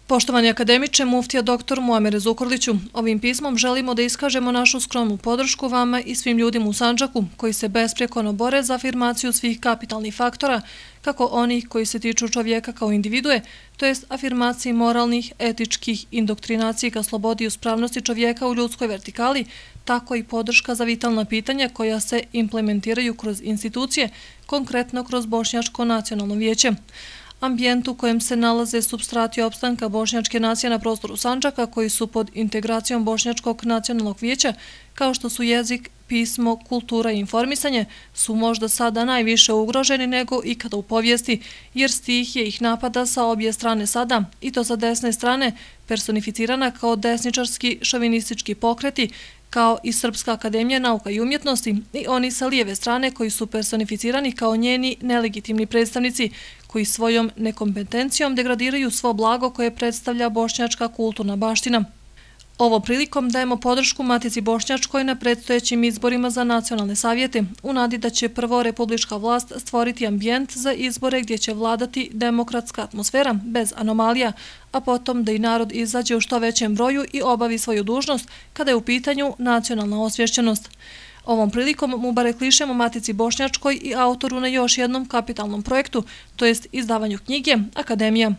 Poštovani akademiče, muftija dr. Muamere Zukorliću, ovim pismom želimo da iskažemo našu skromnu podršku vama i svim ljudima u Sandžaku koji se besprekorno bore za afirmaciju svih kapitalnih faktora, kako onih koji se tiču čovjeka kao individue, to jest afirmaciji moralnih, etičkih indoktrinacije ka slobodi i uspravnosti čovjeka u ljudskoj vertikali, tako i podrška za vitalna pitanja koja se implementiraju kroz institucije, konkretno kroz Bošnjačko nacionalno vijeće. Ambijent u kojem se nalaze supstrati opstanka bošnjačke nacije na prostoru Sandžaka koji su pod integracijom Bošnjačkog nacionalnog vijeća, kao što su jezik, pismo, kultura i informisanje, su možda sada najviše ugroženi nego ikada u povijesti, jer stihija ih napada sa obje strane sada, i to sa desne strane, personificirana kao desničarski šovinistički pokreti, kao i Srpska akademija nauka i umjetnosti, i oni sa lijeve strane koji su personificirani kao njeni nelegitimni predstavnici, koji svojom nekompetencijom degradiraju svo blago koje predstavlja bošnjačka kulturna baština. Ovom prilikom dajemo podršku Matici Bošnjačkoj na predstojećim izborima za nacionalne savjete, u nadi da će prvo republička vlast stvoriti ambijent za izbore gdje će vladati demokratska atmosfera bez anomalija, a potom da i narod izađe u što većem broju i obavi svoju dužnost kada je u pitanju nacionalna osvješćenost. Ovom prilikom mubarek lišemo Matici Bošnjačkoj i autoru na još jednom kapitalnom projektu, to jest izdavanju knjige Akademija.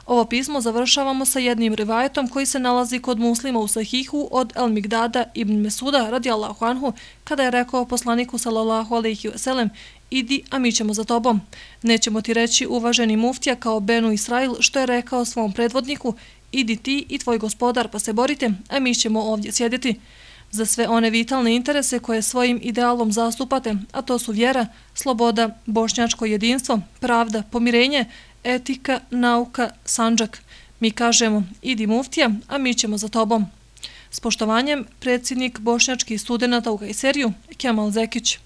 Ovo pismo završavamo sa jednim rivajetom koji se nalazi kod Muslima u Sahihu od El Migdada ibn Mesuda radijallahu anhu, kada je rekao poslaniku sallallahu alejhi ve sellem: idi, a mi ćemo za tobom. Nećemo ti reći, uvaženi muftija, kao Benu Israil, što je rekao svom predvodniku: idi ti i tvoj gospodar pa se borite, a mi ćemo ovdje sjediti. Za sve one vitalne interese koje svojim idealom zastupate, a to su vjera, sloboda, bošnjačko jedinstvo, pravda, pomirenje, etika, nauka, Sandžak. Mi kažemo: idi muftija, a mi ćemo za tobom. S poštovanjem, predsjednik bošnjačkih studenata u Kajseriju, Kemal Zekić.